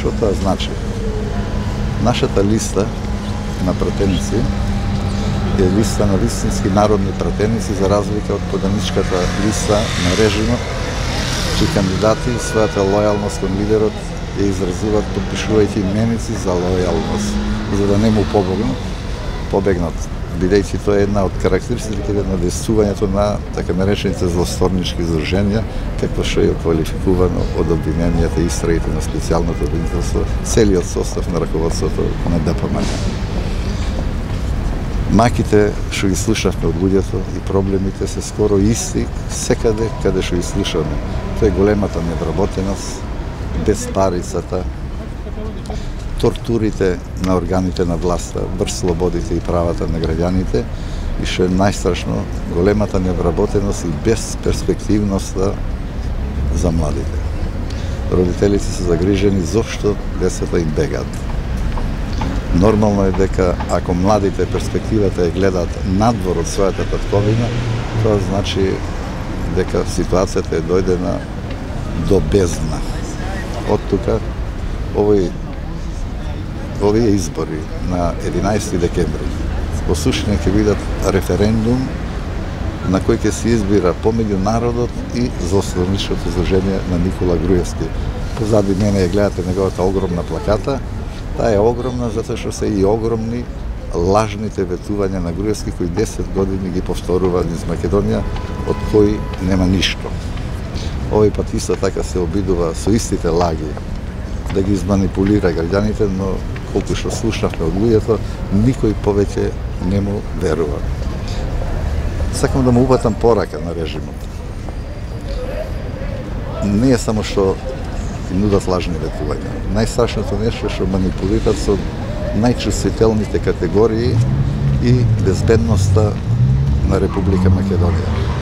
Што тоа значи? Нашата листа на пратеници е листа на вистински народни пратеници, за разлика од поданичката листа на режимот, чии кандидати својата лојалност кон лидерот ја изразуваат подпишувајќи именици за лојалност, за да не му побегнат, бидејќи тоа е една од карактеристиките на действувањето на така наречените злосторнички издруженија, како што е квалификувано од обвиненијата и истрагите на специјалното обвинителство, целиот состав на раководството на ДПМН. Маките што ги слушавме од луѓето и проблемите се скоро исти секаде каде што ги слушаме. Тоа е големата невработеност, безпарицата, тортурите на органите на власта, врз слободите и правата на граѓаните и што е најстрашно, големата невработеност и безперспективноста за младите. Родителите се загрижени зошто децата им бегаат. Нормално е дека ако младите перспективата ја гледаат надвор од својата татковина, тоа значи дека ситуацијата е дојдена до бездна. Од тука, овие избори на 11 декември во суштина ќе бидат референдум на кој ќе се избира помеѓу народот и злосторничкото издружение на Никола Груевски. Позади мене ја гледате неговата огромна плаката. Таа е огромна затоа што се и огромни лажните ветувања на Груевски кои 10 години ги повторува низ Македонија, од кои нема ништо. Овој пат исто така се обидува со истите лаги да ги изманипулира граѓаните, но колку што слушнавме од луѓето, никој повеќе не му верува. Сакам да му упатам порака на режимот. Не е само што нудат лажни ветувања. Најстрашното нешто што манипулират со најчувствителните категории и безбедноста на Република Македонија.